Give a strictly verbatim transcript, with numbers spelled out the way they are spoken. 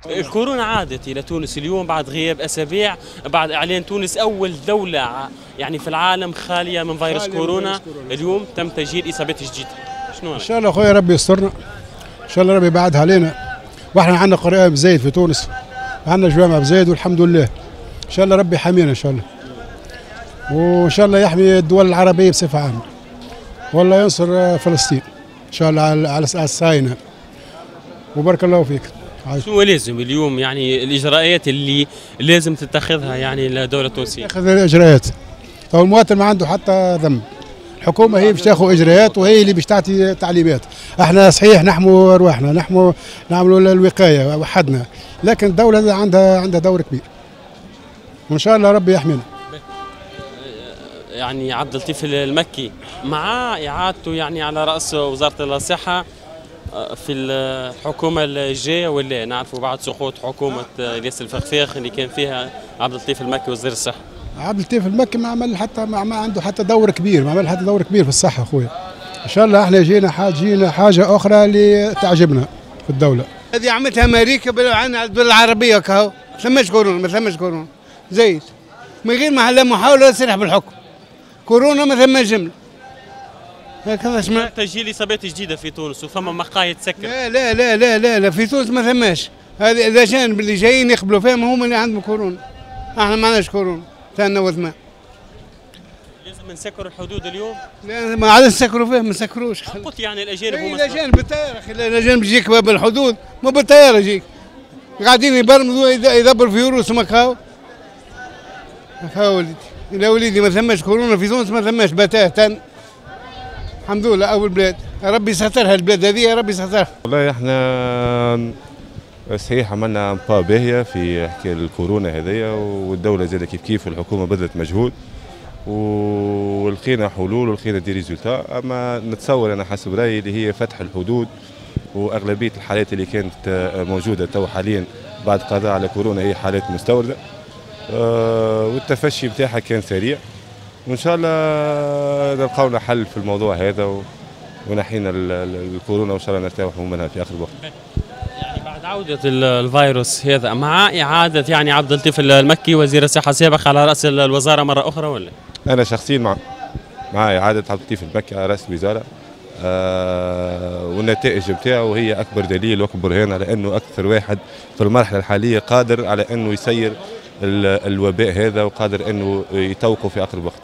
الكورونا عادت الى تونس اليوم بعد غياب اسابيع، بعد اعلان تونس اول دولة يعني في العالم خالية من فيروس خالية من كورونا. فيروس كورونا. اليوم تم تسجيل اصابات جديدة، شنو ان رايك؟ شاء الله خويا ربي يسترنا، ان شاء الله ربي يبعدها علينا، واحنا عندنا قران بزايد في تونس، عندنا جوامع بزايد والحمد لله. ان شاء الله ربي يحمينا ان شاء الله، وان شاء الله يحمي الدول العربية بصفة عامة، والله ينصر فلسطين ان شاء الله على على الصهاينة، وبارك الله فيك. شنو لازم اليوم يعني الاجراءات اللي لازم تتخذها يعني الدولة التونسية؟ تاخذ الاجراءات، تو المواطن ما عنده حتى ذنب، الحكومة هي باش تاخذ اجراءات وهي اللي باش تعطي تعليمات. احنا صحيح نحموا ارواحنا، نحموا نعملوا الوقاية وحدنا، لكن الدولة عندها عندها دور كبير، وان شاء الله ربي يحمينا. يعني عبد اللطيف المكي مع اعادته يعني على راس وزارة الصحة في الحكومة الجاية ولا؟ نعرفوا بعد سقوط حكومة الياس الفخفاخ اللي كان فيها عبد اللطيف المكي وزير الصحة. عبد اللطيف المكي ما عمل حتى ما, ما عنده حتى دور كبير، ما عمل حتى دور كبير في الصحة خويا. ان شاء الله احنا جينا حاجة جينا حاجة اخرى اللي تعجبنا في الدولة. هذه عملتها امريكا عن الدول العربية كهو، ما ثماش كورونا، ما ثماش كورونا زيد من غير ما لا محاولة سلاح بالحكم. كورونا ما ثماش جملة. هكذا سمعت تسجيل اصابات جديدة في تونس وفما مقاهي تسكر. لا لا لا لا لا, لا في تونس ما ثماش. هذه الاجانب اللي جايين يقبلوا فيهم هم اللي عندهم كورونا، احنا ما عندناش كورونا. ثاني وثمان لازم نسكروا الحدود اليوم؟ لا ما عادش نسكروا فيهم، ما نسكروش. قلت يعني الاجانب هما الاجانب بالطيارة، اخي الاجانب يجيك بالحدود ما بالطيارة يجيك، قاعدين يبرمجوا يدبروا في روسهم هكاو. هكاو وليدي، لا وليدي ما ثماش كورونا في تونس، ما ثماش بتاتا الحمد لله. اول بلاد ربي سترها البلاد هذه، ربي سترها. والله احنا صحيح عملنا pas باهيه في حكاية الكورونا هذيا، والدولة زادة كيف كيف، والحكومة بذلت مجهود ولقينا حلول ولقينا des résultats. اما نتصور انا حسب رايي اللي هي فتح الحدود واغلبيه الحالات اللي كانت موجودة تو حاليا بعد قضاء على كورونا هي حالات مستورده، والتفشي بتاعها كان سريع، وان شاء الله نلقاو لنا حل في الموضوع هذا ونحينا الكورونا، وان شاء الله نرتاحوا منها في اخر الوقت. يعني بعد عودة الفيروس هذا مع إعادة يعني عبد اللطيف المكي وزير الصحة السابق على رأس الوزارة مرة أخرى ولا؟ أنا شخصيا مع مع إعادة عبد اللطيف المكي على رأس الوزارة، آه والنتائج بتاعه هي أكبر دليل وأكبر برهان على أنه أكثر واحد في المرحلة الحالية قادر على أنه يسير الوباء هذا وقادر أنه يطوقه في أقرب وقت.